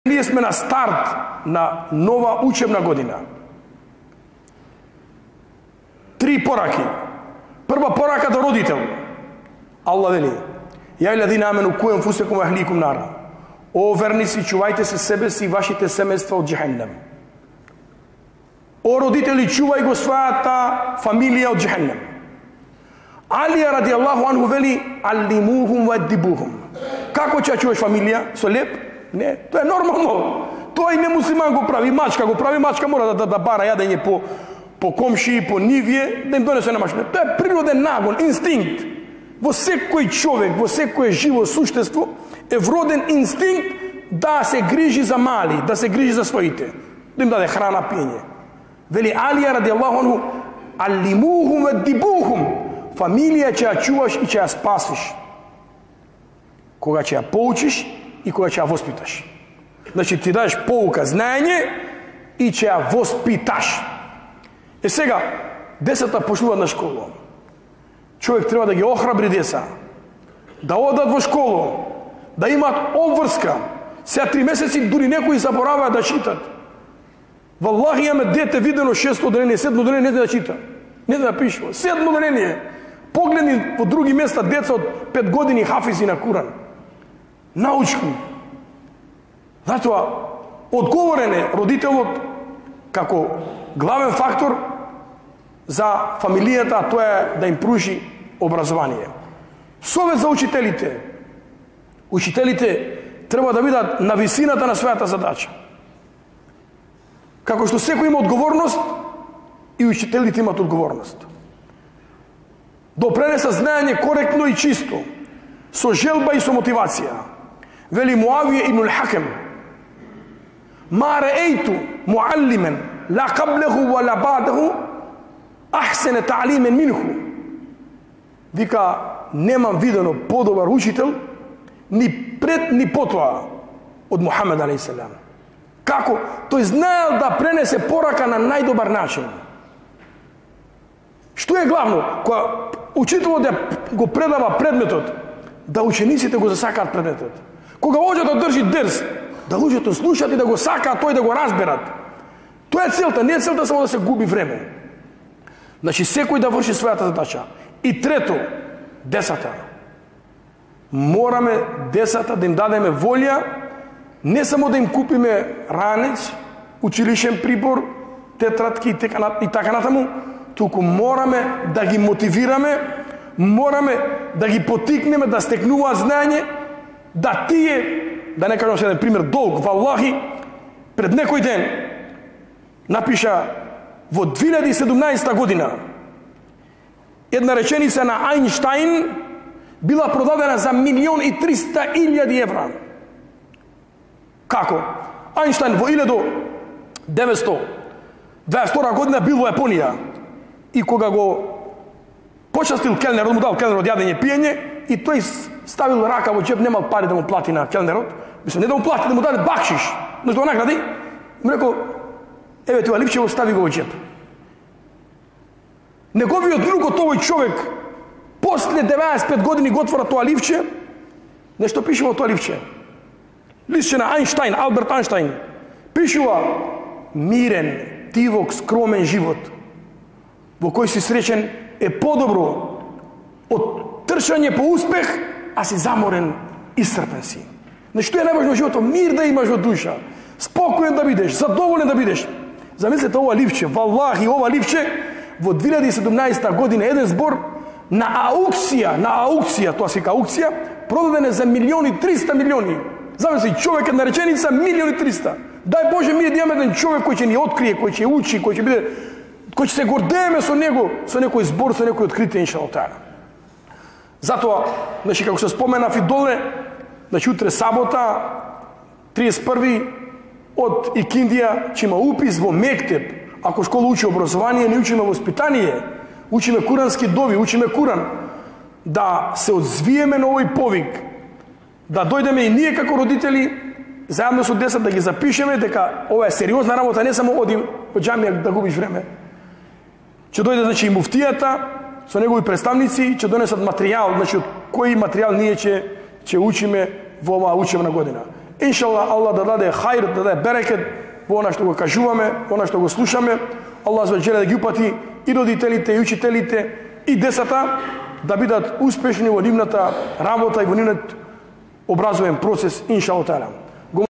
Ние сме на старт на нова учебна година. 3 пораки. Прва порака до родител. Аллах вели: "Ја илладина амену ку анфусакум ва ахликум нара." О верници, чувајте се себе си и вашите семејства од џехеннем. О родители, чувај го својата фамилија од џехеннем. Алија ради Аллаху анху вели: "Аллимухум ва аддибухум." Како ќе чуваш фамилија? Со леп? Не, тоа е нормално. Тоа и не муслиман го прави, мачка го прави, мачка мора да бара јадење по комши, по нивие, да им донесе на машина. Тоа е природен нагон, инстинкт. Во секој човек, во секое живо суштество е вроден инстинкт да се грижи за мали, да се грижи за своите, да им даде храна, пиење. Вели Алија ради Аллаху анху: "Аллимухум аддибухум." Фамилија ќе ја чуваш и ќе ја спасиш. Кога ќе ја поучиш и кога ќе ја воспиташ. Значи ти дадеш поука, знаење и ќе ја воспиташ. Сега, децата почнуваат на школа. Човек треба да ги охрабри деца, да одат во школа, да имаат обврска. Сега 3 месеци дури некои забораваат да читат. Валлахи, имаме дете видено 6-то деление, 7-то деление, не знае да чита, не знае да пишува. 7-то деление. Погледни во други места деца од 5 години хафизи на Куран. Научни. Затоа, одговорен е родителот како главен фактор за фамилијата, а тоа е да им пружи образование. Совет за учителите. Учителите треба да бидат на висината на својата задача. Како што секој има одговорност, и учителите имат одговорност. Допренеса знаење коректно и чисто, со желба и со мотивација. Вели Муавија ибн ал-Хакем: "Ма раејту муаллимен ла каблеху ва ла бадеху ахсене таълимен минху." Вика, немам видено подобар учител ни пред ни потоа од Мухамед алейхиссалам. Како? Тој знаел да пренесе порака на најдобар начин. Што е главно? Кога учителот го предава предметот, да учениците го засакаат предметот. Кога луѓето да држи дерс, да луѓето слушаат и да го сакаат тој да го разберат. Тоа е целта, не е целта само да се губи време. Значи секој да врши својата задача. И трето, децата. Мораме децата да им дадеме волја, не само да им купиме ранец, училишен прибор, тетрадки и така натаму, туку мораме да ги мотивираме, мораме да ги потикнеме да стекнуваат знаење, да тие, да не кажам еден пример долг, валлахи, пред некој ден напиша во 2017 година една реченица на Ајнштајн била продадена за 1.300.000 евра. Како? Ајнштајн во 1922 година бил во Јапонија и кога го почастил келнерот, му дал келнерот јадење пиење и тој ставил рака во џеб, немал пари да му плати на келнерот, мислам не да му плати, да му даде бакшиш, но да награди, му рекол: "Еве тоа липче, го стави го во џеб." Неговиот друг од овој човек после 95 години го отвора тоа ливче, нешто пише во тоа ливче. Листче на Ајнштајн, Алберт Ајнштајн. Пишува: "Мирен, тивок, скромен живот во кој си среќен е подобро од трчање по успех, а си заморен, исцрпен си." Значи, што е најважно во животот? Мир да имаш во душа, спокоен да бидеш, задоволен да бидеш. Замислете ова ливче, валлахи, ова ливче во 2017 година еден збор на аукција, тоа се вика аукција, продаден е за 1.300.000.000. Замисли, човек една реченица 1.300.000. Дај Боже, ми да имаме еден човек кој ќе ни открие, кој ќе учи, кој ќе биде, кој ќе се гордееме со него, со некој збор, со некој откритие, иншаллах таала. Затоа, значи, како се споменав и доле, значи, утре сабота, 31 од Икиндија, ќе има упис во мектеп. Ако школа учи образование, не учиме воспитание, учиме курански дови, учиме Куран, да се одзвиеме на овој повик, да дојдеме и ние како родители, заедно со децата да ги запишеме дека ова е сериозна работа, не само оди во џамија да губиш време. Ќе дојде, значи, и муфтијата со негови представници, ќе донесат материјал, значи, од кој материјал ние ќе учиме во оваа учебна година. Иншаллах, Аллах да даде хајр, да даде берекет во она што го кажуваме, во она што го слушаме. Аллах желе да ги упати и родителите, и учителите, и децата да бидат успешни во нивната работа и во нивниот образовен процес, иншаллах таала.